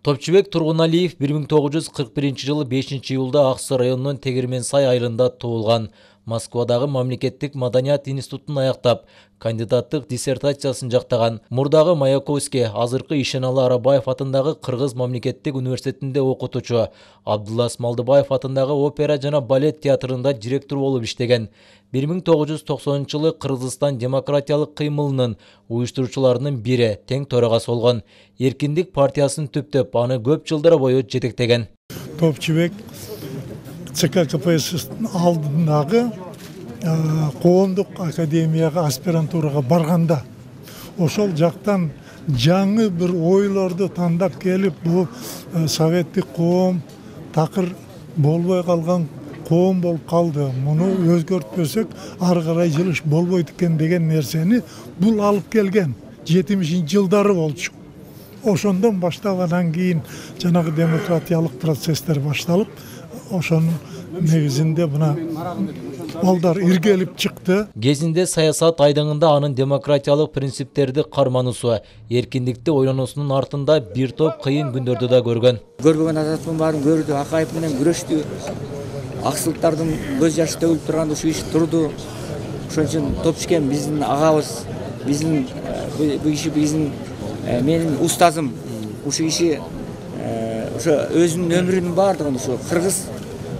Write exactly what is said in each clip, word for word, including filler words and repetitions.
Топчубек Тургуналиев бир миң тогуз жүз кырк биринчи жылы бешинчи июлда Ак Суу районунун Тегирмен Сай айылында туулган. Москвадагы Мамлекеттик маданият институтун аяктап, кандидаттык диссертациясын жактаган. Мурдагы Маяковский, азыркы Ишеналы Арабаев атындагы Кыргыз мамлекеттик университетинде окутуучу, Абдулла Смалдыбаев атындагы опера жана балет театрында директор болуп иштеген. бир миң тогуз жүз токсонунчу жылы Кыргызстан демократиялык кыймылынын уюштуруучуларынын бири, тең төрагасы болгон. Эркиндик партиясын түптөп, аны көп жылдар бою жетектеген. Топчубек ЦК КПСС алдындагы коомдук академияга аспирантурага барганда ошол жактан жаңы бир ойлорду тандап келип, бул советтик коом такыр болбой калган коом болуп калды. Муну өзгөртпөсөк ары карай жылыш болбойт экен деген нерсени бул алып келген. жетимишинчи жылдары болчу. Ошондон баштап анан кийин жанагы демократиялык процесстер башталып, ошонун негизинде мына балдар иргелип чыкты. Кезинде саясат айдыңында анын демократиялык принциптерди кармануусу, эркиндикти ойлонуусунун артында бир топ кыйын күндөрдү да көргөн. Көрбөгөн азаттын баарын көрдү, Акаев менен күрөштү. Аксылыктардын көз жашы төгүлүп турганда ушу иш турду. Ошон үчүн Топчубек биздин агабыз, биздин бул иши биздин менин устазым. Ушу иши ошо өзүнүн өмүрүнүн баардыгын ушу кыргыз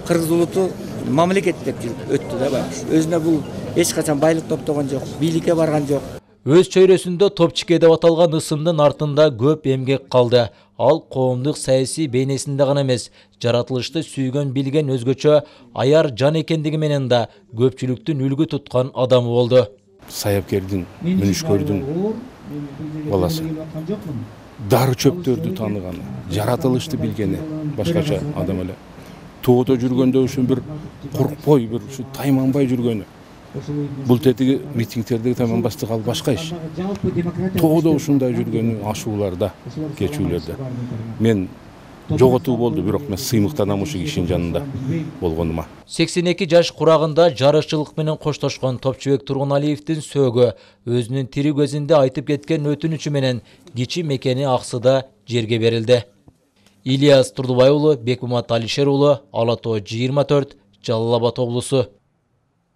кыргыз улуту мамлекет деп жүрүп өттү да баягы. Өзүнө бул эч качан байлык топтогон жок, бийликке барган жок. Өз чөйрөсүндө Топчубек деп аталган ысымдын артында көп эмгек калды. Ал коомдук саясий бейнесинде гана эмес, жаратылышты сүйгөн, билген, өзгөчө аяр жан экендиги менен да көпчүлүктүн үлгү туткан адамы болду. Саяпкердин, мүнүшкөрдүн баласы. Дары чөптөрдү тааныганы, жаратылышты билгени, башкача адам эле. Тоодо жүргөндө ушун бир коркпой, бир ушу тайманбай жүргөнү. Бул тетиги митингтердеги тайманбастык ал башка иш. Тоодо ушундай жүргөнү, ашууларда, кечүүлөрдө. Мен жоготуу болду, бирок мен сыймыктанам ушу кишинин жанында болгонума. сексен эки жаш курагында жарышчылык менен коштошкон Топчубек Тургуналиевдин сөөгү өзүнүн тири көзүндө айтып кеткен өтүнүчү менен кичи мекени Ак Сууда жерге берилди. Ильяс Турдубай уулу, Бекмамат Алишер уулу, Ала Тоо жыйырма төрт, Жалал Абад облусу.